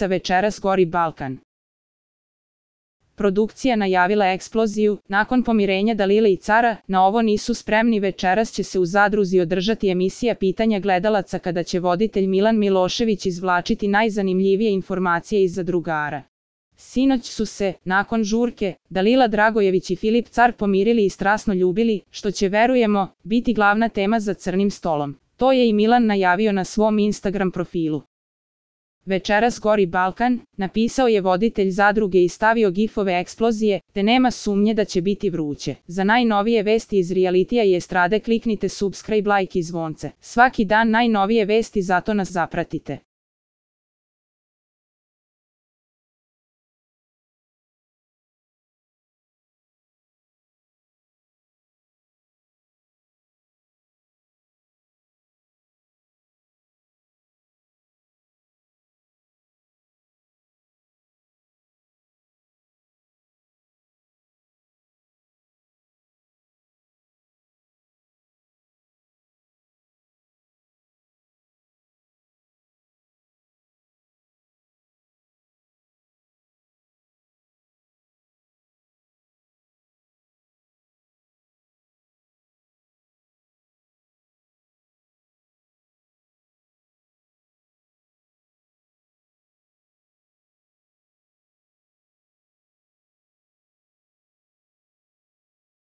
Večeras gori Balkan. Produkcija najavila eksploziju, nakon pomirenja Dalile i Cara, na ovo nisu spremni. Večeras će se u Zadruzi održati emisija Pitanja gledalaca kada će voditelj Milan Milošević izvlačiti najzanimljivije informacije iz Zadrugara. Sinoć su se, nakon žurke, Dalila Dragojević i Filip Car pomirili i strasno ljubili, što će, verujemo, biti glavna tema za crnim stolom. To je i Milan najavio na svom Instagram profilu. Večeras gori Balkan, napisao je voditelj Zadruge i stavio gifove eksplozije, te nema sumnje da će biti vruće. Za najnovije vesti iz realitija i estrade kliknite subscribe, like i zvonce. Svaki dan najnovije vesti, zato nas zapratite.